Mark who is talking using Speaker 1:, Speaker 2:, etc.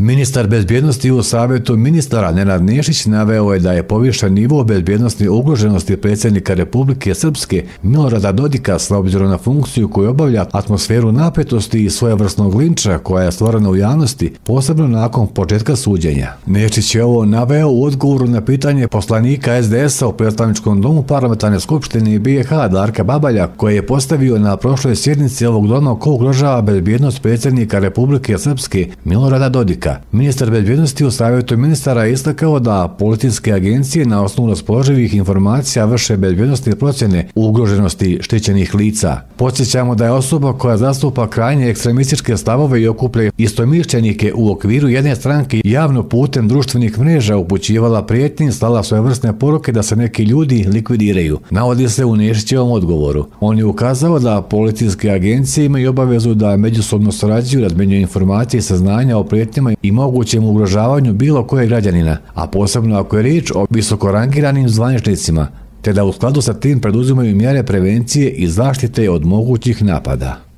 Speaker 1: Ministar bezbjednosti u Savjetu ministara Nenad Nešić naveo je da je povišen nivo bezbjednosne ugroženosti predsjednika Republike Srpske Milorada Dodika s obzirom na funkciju koju obavlja, atmosferu napetosti i svojevrsnog linča koja je stvorena u javnosti, posebno nakon početka suđenja. Nešić je ovo naveo u odgovoru na pitanje poslanika SDS-a u predstavničkom domu Parlamentarne skupštine BiH Darka Babalja, koje je postavio na prošloj sjednici ovog doma ko ugrožava bezbjednost predsjednika Republike Srpske Milorada Dodika. Ministar bezbjednosti u Savjetu ministara je istakao da policijske agencije na osnovu raspoloživih informacija vrše bezbjednostne procjene ugroženosti štićenih lica. Podsjećamo da je osoba koja zastupa krajnje ekstremističke stavove i okuplja istomišljenike u okviru jedne stranke javno putem društvenih mreža upućivala prijetnje i slala svojevrsne poruke da se neki ljudi likvidiraju, navodi se u Nešićevom odgovoru. On je ukazao da policijske agencije imaju obavezu da međusobno surađuju, razmjenjuju informacije i saznanja o prijetnjama i mogućem ugrožavanju bilo kojeg građanina, a posebno ako je riječ o visokorangiranim zvaničnicima, te da u skladu sa tim preduzimaju mjere prevencije i zaštite od mogućih napada.